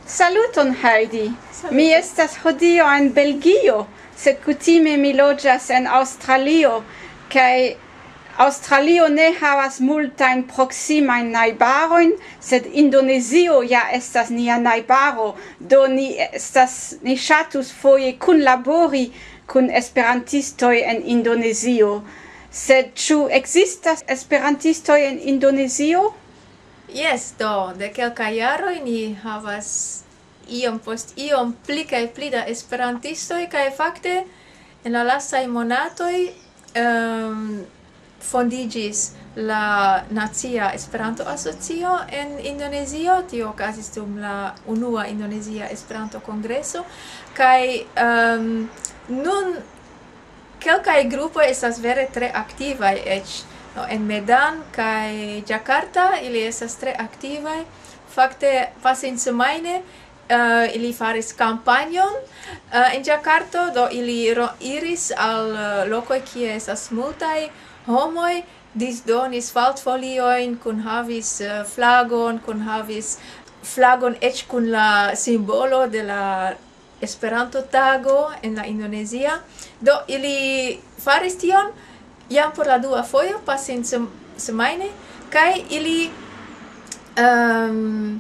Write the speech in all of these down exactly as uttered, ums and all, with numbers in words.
Saluton, Heidi. Saluton. Mi estas hodiaŭ en Belgio, sed kutime mi loĝas en Aŭstralio, kaj Aŭstralio ne havas multajn proksimajn najbarojn, sed Indonezio ja estas nia najbaro, do ni estas, ni ŝatus foje kunlabori kun esperantistoj en Indonezio. Sed ĉu ekzistas esperantistoj en Indonezio? Jes, do, de kelkaj jaroj ni havas iom post iom pli kaj pli da esperantistoj, kaj fakte en la lastaj monatoj, ehm, fondiĝis la Nacia Esperanto-Asocio en Indonezio. Tio okazis dum la unua Indonezia Esperanto-Kongreso, kaj, ehm, nun kelkaj grupoj estas vere tre aktivaj eĉ. No, en Medan kaj Jakarta ili estas tre aktivaj. Fakte, pasinsemajne, eh, ili faris kampanjon, eh, en Jakarto, do ili ro-, iris al, eh, lokoj, kie estas multaj homoj, disdonis faltfoliojn, kunhavis, eh, flagon, kunhavis flagon eĉ kun la simbolo de la Esperanto-tago en la Indonezia. Do ili faris tion jam por la dua fojo, pasinsemajne, kaj ili, ehm,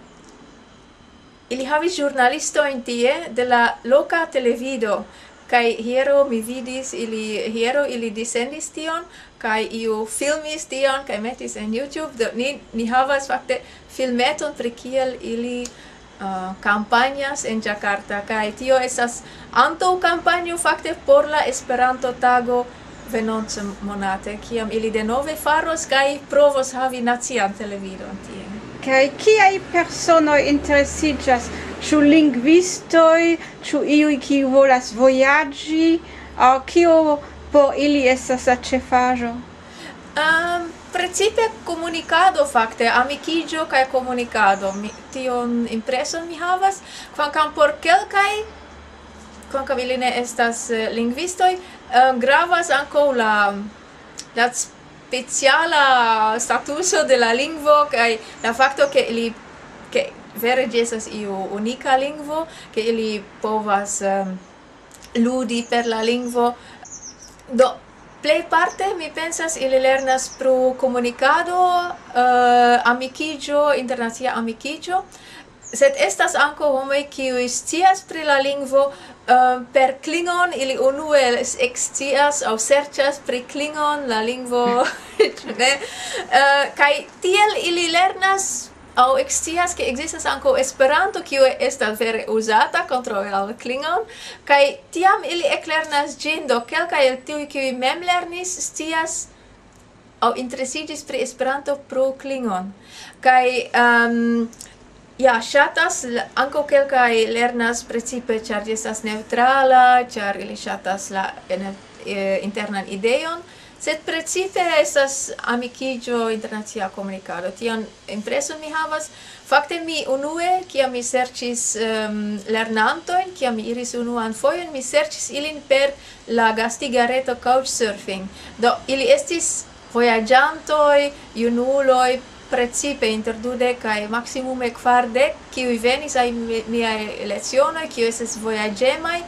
ili havis ĵurnalistojn tie de la loka televido, kaj hieraŭ mi vidis ili, hieraŭ ili dissendis tion, kaj iu filmis tion, kaj metis en YouTube. Do ni, ni havas fakte filmeton pri kiel ili, eh, kampanjas en Jakarta, kaj tio estas antaŭ kampanjo fakte por la Esperanto-tago venonte monate, kiam ili denove faros kaj provos havi nacian televidon tie. Kaj kiaj personoj interesiĝas? Ĉu lingvistoj, ĉu iuj, kiu volas vojaĝi, aŭ kio por ili estas la ĉefaĵo? Ehm, precipe komunikado, fakte, amikiĝo kaj komunikado. Mi, tion impreson mi havas, kvankam por kelkaj, kvankam ili ne estas, eh, lingvistoj, eh, gravas ankaŭ la, la speciala statuso de la lingvo kaj la fakto, ke ili, ke vere ĝi estas iu unika lingvo, ke ili povas, ehm, ludi per la lingvo. Do, plejparte, mi pensas, ili lernas pro komunikado, eh, amikiĝo, internacia amikiĝo, sed estas ankaŭ homoj, kiuj scias pri la lingvo, eh, per Klingon, ili unue s-, ekscias aŭ serĉas pri Klingon, la lingvo, ĉu ne? Eh, kaj tiel ili lernas aŭ ekscias, ke ekzistas ankaŭ Esperanto, kiu estas vere uzata kontraŭ al Klingon, kaj tiam ili eklernas ĝin, do kelkaj el tiuj, kiuj mem lernis, scias aŭ interesiĝis pri Esperanto pro Klingon. Kaj, ehm, ja, ŝatas, l-, ankaŭ kelkaj lernas precipe, ĉar ĝi estas neŭtrala, ĉar ili ŝatas la en-, eh, internan ideon, sed precipe estas amikiĝo, internacia komunikado. Tion impreson mi havas. Fakte mi unue, kiam mi serĉis, ehm, lernantojn, kiam mi iris unuan fojon, mi serĉis ilin per la gastiga reto Couchsurfing. Do, ili estis vojaĝantoj, junuloj, precipe inter dudek kaj maksimume kvardek, kiuj venis al mi-, miaj lecionoj, kiuj estis vojaĝemaj.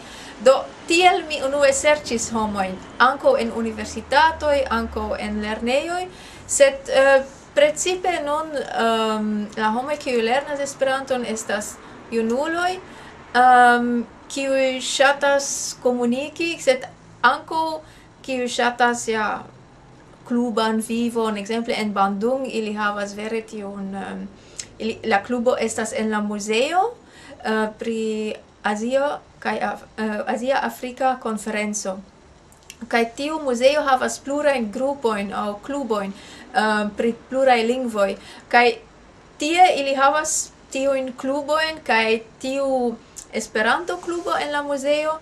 Do, tiel mi unue serĉis homojn, ankaŭ en universitatoj, ankaŭ en lernejoj, sed, eh, precipe nun, ehm, la homoj, kiuj lernas Esperanton, estas junuloj, ehm, kiuj ŝatas komuniki, sed ankaŭ kiuj ŝatas, ja, kluban vivon. Ekzemple en Bandung ili havas vere tiun, ehm, ili, la klubo estas en la muzeo, eh, pri Azio kaj Af-, eh, Azia Afrika Konferenco. Kaj tiu muzeo havas plurajn grupojn aŭ klubojn, eh, pri pluraj lingvoj. Kaj tie ili havas tiujn klubojn, kaj tiu Esperanto-klubo en la muzeo,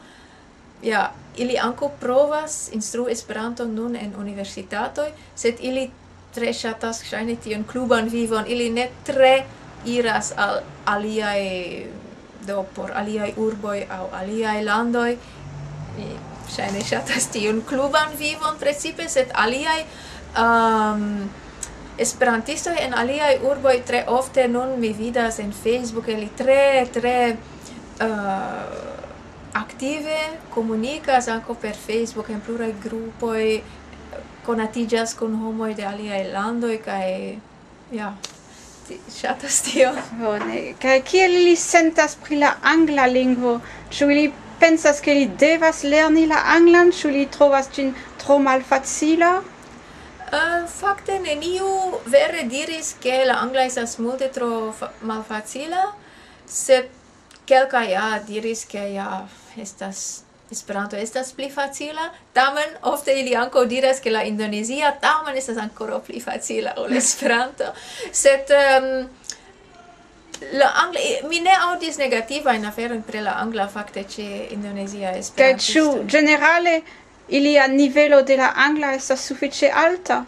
ja, ili ankaŭ provas instrui Esperanton nun en universitatoj, sed ili tre ŝatas ŝajne tiun kluban vivon, ili ne tre iras al aliaj, do por aliaj urboj aŭ aliaj landoj. Mi ŝajne ŝatas tiun kluban vivon precipe, sed aliaj, ehm, Esperantistoj en aliaj urboj tre ofte nun mi vidas en Facebook, ili tre, tre, eh, aktive komunikas ankaŭ per Facebook en pluraj grupoj, konatiĝas kun homoj de aliaj landoj kaj, ja, ti-, ŝatas tion. Bone. Kaj kiel ili sentas pri la angla lingvo? Ĉu ili pensas, ke ili devas lerni la anglan? Ĉu ili trovas ĝin tro malfacila? Eh, fakte neniu vere diris, ke la angla estas multe tro fa-, malfacila, sed kelkaj ja diris, ke ja estas, Esperanto estas pli facila. Tamen ofte ili ankaŭ diras, ke la indonezia tamen estas ankoraŭ pli facila ol Esperanto. Sed, em, la angla, mi ne aŭdis negativajn aferojn pri la angla fakte ĉe indonezia Kaj ĉu esperantisto. Ĝenerale ilia nivelo de la angla estas sufiĉe alta?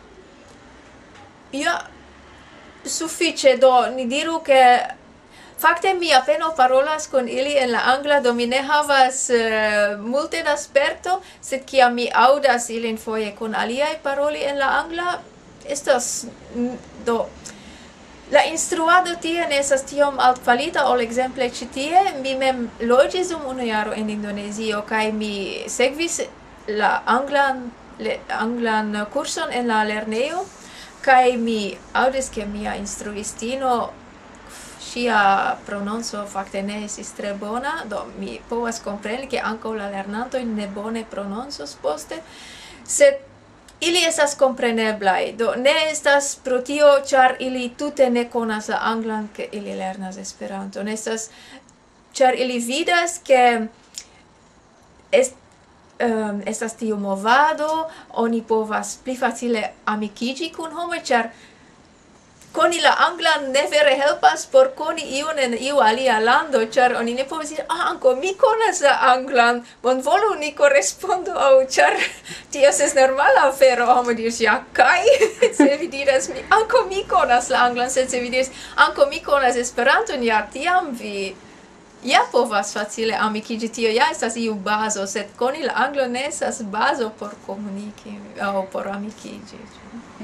Ja, sufiĉe, do ni diru, ke fakte mi apenaŭ parolas kun ili en la angla, do mi ne havas, eh, multe da sperto, sed kiam mi aŭdas ilin foje kun aliaj paroli en la angla, estas, mm, do, la instruado tie ne estas tiom altkvalita ol ekzemple ĉi tie. Mi mem loĝis dum unu jaro en Indonezio, kaj mi sekvis la anglan, le-, anglan kurson en la lernejo, kaj mi aŭdis, ke mia instruistino, ŝia prononco fakte ne estis tre bona, do mi povas kompreni, ke ankaŭ la lernantoj ne bone prononcos poste, sed ili estas kompreneblaj, do ne estas pro tio, ĉar ili tute ne konas la anglan, ke ili lernas Esperanton. Estas, ĉar ili vidas, ke est-, em, estas tiu movado, oni povas pli facile amikiĝi kun homoj, ĉar koni la anglan ne vere helpas por koni iun en iu alia lando, ĉar oni ne povas diri, "Ah, ankaŭ mi konas la anglan, bonvolu ni korespondu aŭ," ĉar tio estas normala afero, homo diris, "Ja, kaj?" Se vi diras, "Mi, ankaŭ mi konas la anglan," sed se vi diras, "Ankaŭ mi konas Esperanton," ja, tiam vi ja povas facile amikiĝi, tio ja estas iu bazo, sed koni la anglo ne estas bazo por komuniki aŭ por amikiĝi.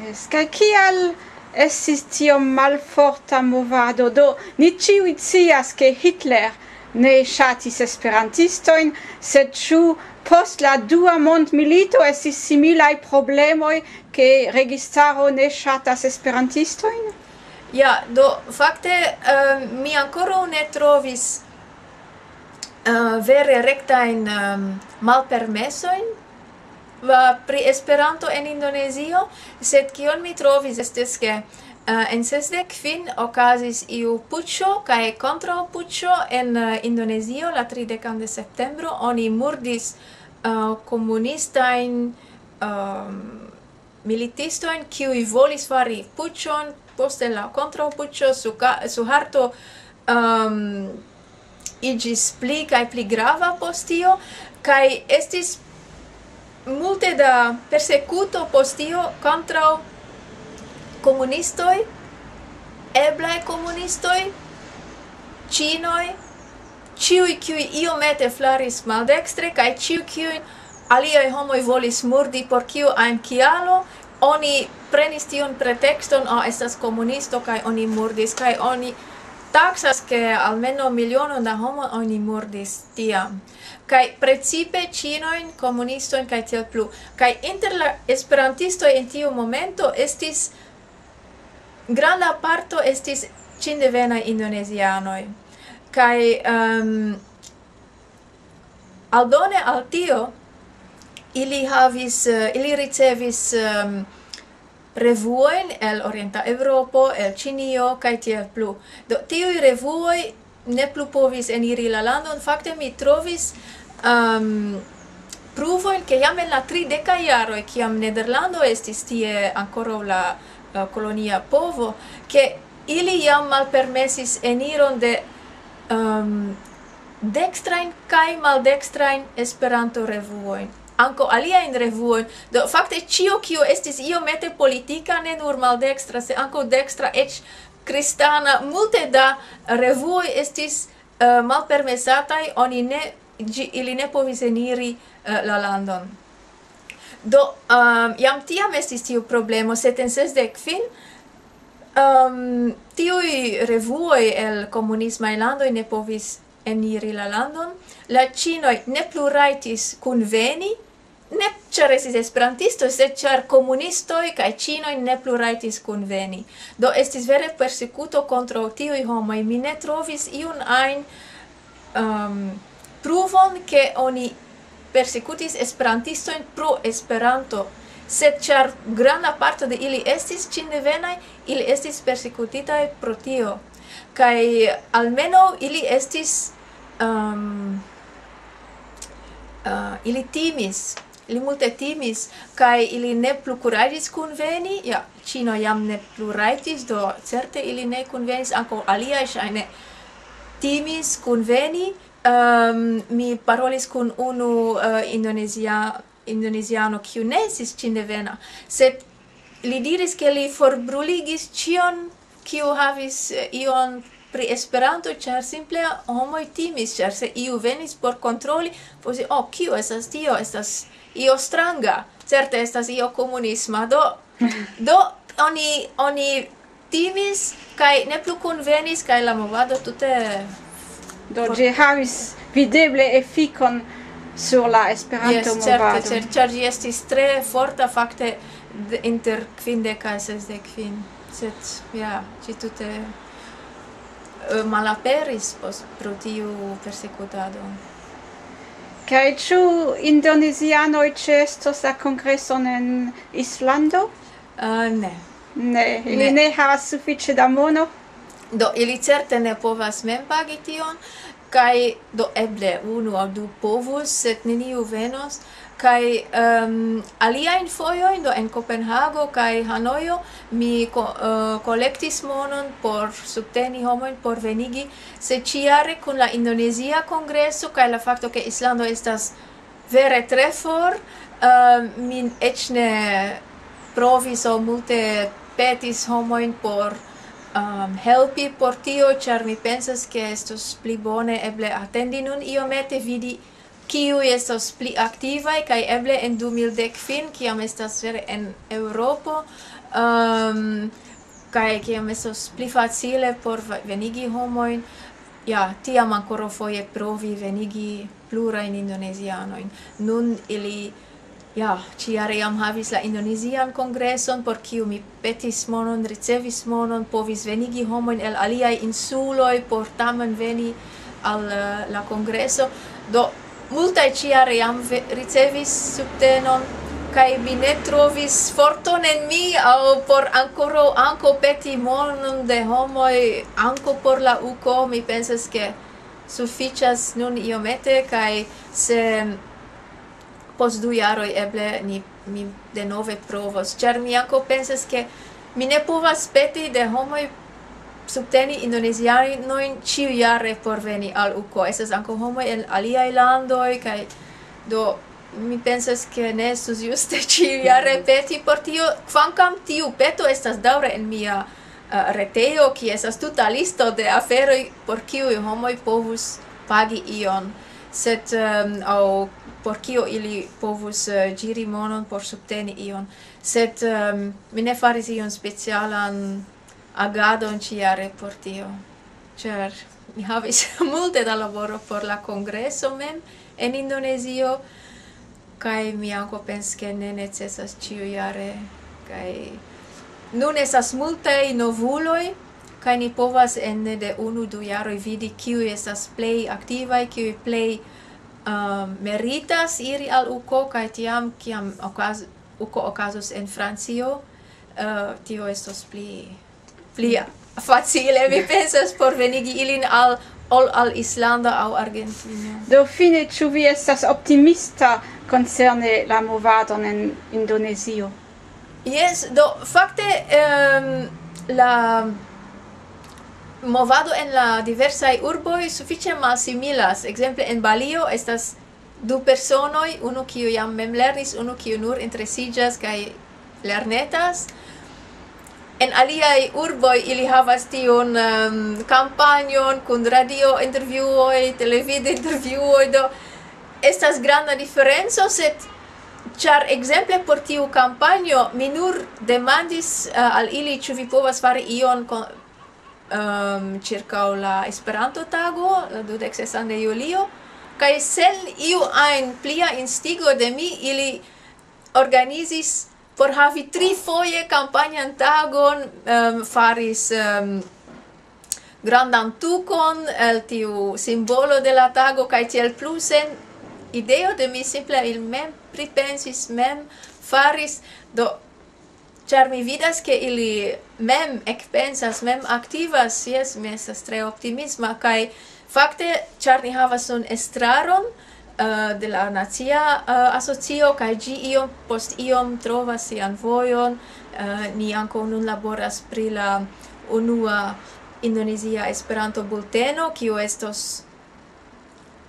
Jes, kaj kial estis tiom malforta movado? Do, ni ĉiuj scias, ke Hitler ne ŝatis esperantistojn, sed ĉu post la dua mondmilito estis similaj problemoj, ke registaro ne ŝatas esperantistojn? Ja, do, fakte, eh, mi ankoraŭ ne trovis, eh, vere rektajn, em, malpermesojn, va, pri Esperanto en Indonezio, sed kion mi trovis estis, ke, eh, en sesdek kvin okazis iu puĉo kaj kontraŭpuĉo en, eh, Indonezio la tridekan de septembro. Oni murdis, eh, komunistajn, em, militistojn, kiuj volis fari puĉon, poste la kontraŭpuĉo, Suka-, Suharto, em, iĝis pli kaj pli grava post tio, kaj estis multe da persekuto post tio kontraŭ komunistoj, eblaj komunistoj, ĉinoj, ĉiuj, kiuj iomete flaris maldekstre, kaj ĉiuj, kiuj aliaj homoj volis murdi por kiu ajn kialo, oni prenis tiun pretekston, "Oh, estas komunisto," kaj oni murdis, kaj oni taksas, ke almenaŭ milionon da homoj oni murdis tiam. Kaj precipe ĉinojn, komunistojn kaj tiel plu. Kaj inter la esperantistoj en tiu momento estis, granda parto estis ĉindevenaj indonezianoj. Kaj, em, aldone al tio, ili havis, eh, ili ricevis, em, revuojn el Orienta Eŭropo, el Ĉinio, kaj tiel plu. Do, tiuj revuoj ne plu povis eniri la landon. Fakte mi trovis, em, pruvojn, ke jam en la tridekaj jaroj, kiam Nederlando estis tie ankoraŭ la, eh, kolonia povo, ke ili jam malpermesis eniron de, em, dekstrajn kaj maldekstrajn Esperanto-revuojn. Ankaŭ aliajn revuojn. Do, fakte, ĉio, kio estis iomete politika, ne nur maldekstra, se ankaŭ dekstra, eĉ kristana, multe da revuoj estis, eh, malpermesataj, oni ne, ĝi-, ili ne povis eniri, eh, la landon. Do, em, jam tiam estis tiu problemo, sed en sesdek kvin, Um, tiuj revuoj el komunismaj landoj ne povis eniri la landon. La ĉinoj ne plu rajtis kunveni, ne ĉar estis esperantistoj, sed ĉar komunistoj kaj ĉinoj ne plu rajtis kunveni. Do estis vere persekuto kontraŭ tiuj homoj. Mi ne trovis iun ajn um, pruvon, ke oni persekutis esperantistojn pro Esperanto, sed ĉar granda parto de ili estis ĉindevenaj, ili estis persekutitaj pro tio. Kaj almenaŭ ili estis, um, uh, ili timis, ili multe timis, kaj ili ne plu kuraĝis kunveni. Ja, Ĉino jam ne plu rajtis, do certe ili ne kunvenis, ankaŭ aliaj ŝajne timis kunveni. Um, mi parolis kun unu uh, indonezia, indoneziano, kiu ne estis ĉindevena, sed li diris, ke li forbruligis ĉion, kiu havis eh, ion pri Esperanto, ĉar simple homoj timis, ĉar se iu venis por kontroli, posi, oh, kio estas tio? Estas io stranga. Certe estas io komunisma. Do, do oni, oni timis kaj ne plu kunvenis, kaj la movado tute... Do ĝi havis videble efikon sur la Esperanto-movado. Yes, certe, certe, ĉar ĝi estis tre forta fakte inter kvindek kaj sesdek kvin. Sed, ja, ĝi tute eh, malaperis pro tiu persekutado. Kaj ĉu indonezianoj ĉeestos la kongreson en Islando? Uh, ne. Ne, ili ne havas sufiĉe da mono. Do, ili certe ne povas mem pagi tion, kaj do eble unu aŭ du povus, sed neniu venos. Kaj um, aliajn fojojn, do en Kopenhago kaj Hanojo, mi ko, uh, kolektis monon por subteni homojn por venigi, sed ĉiare kun la Indonezia kongreso kaj la fakto, ke Islando estas vere tre for, uh, mi eĉ ne provis aŭ multe petis homojn por um, helpi por tio, ĉar mi pensas, ke estos pli bone eble atendi nun iomete, vidi kiuj estos pli aktivaj, kaj eble en du mil dek kvin, kiam estas vere en Eŭropo, um, kaj kiam estos pli facile por venigi homojn, ja, tiam ankoraŭ foje provi venigi plurajn indonezianojn. Nun ili ja, ĉiare jam havis la Indonezian kongreson, por kiu mi petis monon, ricevis monon, povis venigi homojn el aliaj insuloj por tamen veni al uh, la kongreso. Do, multaj ĉiare jam ricevis subtenon, kaj mi ne trovis forton en mi aŭ por ankoraŭ ankaŭ peti monon de homoj ankaŭ por la uko. Mi pensas, ke sufiĉas nun iomete, kaj se post du jaroj eble ni, mi denove provos, ĉar mi ankaŭ pensas, ke mi ne povas peti de homoj subteni indonezianojn ĉiujare por veni al uko. Estas ankaŭ homoj el aliaj landoj, kaj do mi pensas, ke ne estus juste ĉiujare peti por tio, kvankam tiu peto estas daŭre en mia uh, retejo, kie estas tuta listo de aferoj, por kiuj homoj povus pagi ion, sed um, aŭ por kio ili povus uh, ĝiri monon por subteni ion. Sed um, mi ne faris ion specialan agadon ĉiare por tio, ĉar mi havis multe da laboro por la kongreso mem en Indonezio, kaj mi ankaŭ pensas, ke ne necesas ĉiujare, kaj nun estas multaj novuloj, kaj ni povas ene de unu, du jaroj vidi, kiuj estas plej aktivaj, kiuj plej um, meritas iri al uko, kaj tiam, kiam okaz, uko okazos en Francio, uh, tio estos pli, pli facile, mi pensas, por venigi ilin al, ol al Islando aŭ Argentino. Do fine, ĉu vi estas optimista koncerne la movadon en Indonezio? Yes, do fakte um, la movado en la diversaj urboj sufiĉe malsimilas. Ekzemple en Balio estas du personoj, unu kiu jam mem lernis, unu kiu nur interesiĝas kaj lernetas. En aliaj urboj ili havas tiun um, kampanjon kun radio intervjuoj, televid intervjuoj, do estas granda diferenco, sed Ĉar ekzemple por tiu kampanjo mi nur demandis, eh, al ili, ĉu vi povas fari ion kon-, ehm, ĉirkaŭ la Esperanto-tago, la dudek sesan de julio, kaj sen iu ajn plia instigo de mi, ili organizis por havi trifoje kampanjan tagon, ehm, faris, ehm, grandan tukon el tiu simbolo de la tago, kaj tiel plu, sen ideo de mi, simple ili mem pripensis, mem faris. Do, ĉar mi vidas, ke ili mem ekpensas, mem aktivas, jes, mi estas tre optimisma, kaj fakte, ĉar ni havas nun estraron, eh, de la Nacia, eh, Asocio, kaj ĝi iom post iom trovas sian vojon, eh, ni ankaŭ nun laboras pri la unua Indonezia Esperanto-bulteno, kiu estos,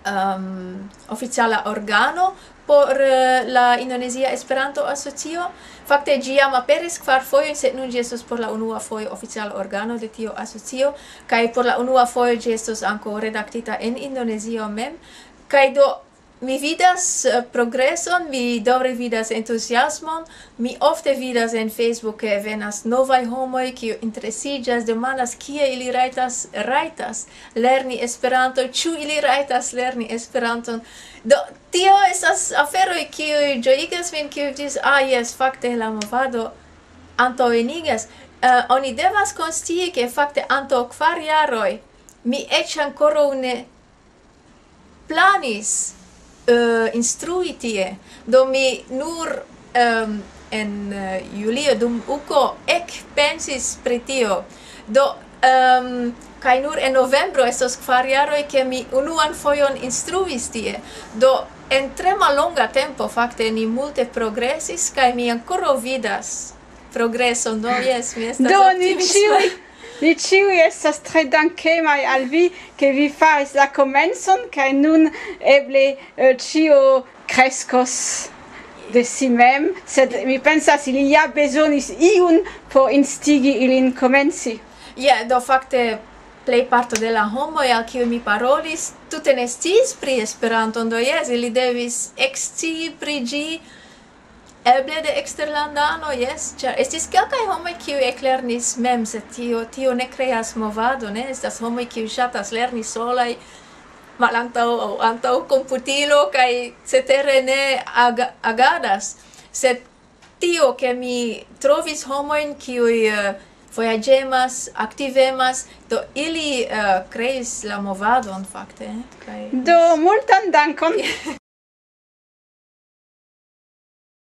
ehm, oficiala organo por, eh, la Indonezia Esperanto-Asocio. Fakte ĝi jam aperis kvar fojojn, sed nun ĝi estos por la unua fojo oficiala organo de tio asocio, kaj por la unua fojo ĝi estos ankaŭ redaktita en Indonezio mem. Kaj do, mi vidas, eh, progreson, mi daŭre vidas entuziasmon, mi ofte vidas en Facebook, ke venas novaj homoj, kiu interesiĝas, demandas, kie ili rajtas, rajtas lerni Esperanto, ĉu ili rajtas lerni Esperanton. Do, tio estas aferoj, kiuj ĝojigas min, kiuj diris, "Ah, jes, fakte la movado antaŭenigas." Eh, oni devas konscii, ke fakte antaŭ kvar jaroj mi eĉ ankoraŭ ne planis, eh, instrui tie. Do mi nur, ehm, en, eh, julio dum uko ekpensis pri tio. Do, ehm, kaj nur en novembro estos kvar jaroj, ke mi unuan fojon instruis tie. Do en tre mallonga tempo, fakte, ni multe progresis, kaj mi ankoraŭ vidas progreson. Do, jes, mi estas Do, ni optimisma. ĉiuj, ni ĉiuj estas tre dankemaj al vi, ke vi faris la komencon, kaj nun eble, eh, ĉio kreskos de si mem, sed mi pensas, ili ja bezonis iun por instigi ilin komenci. Ja, do fakte plej parto de la homoj, al kiuj mi parolis, tute ne sciis pri Esperanto, do jes, ili devis ekscii pri ĝi, eble de eksterlandano, jes, ĉar estis kelkaj homoj, kiuj eklernis mem, sed tio, tio ne kreas movado, ne? Estas homoj, kiuj ŝatas lerni solaj, malantaŭ aŭ antaŭ komputilo, kaj cetere ne aga-, agadas. Sed tio, ke mi trovis homojn, kiuj, eh, vojaĝemas, aktivemas, do ili, eh, kreis la movadon, fakte, eh, kaj Do, multan dankon.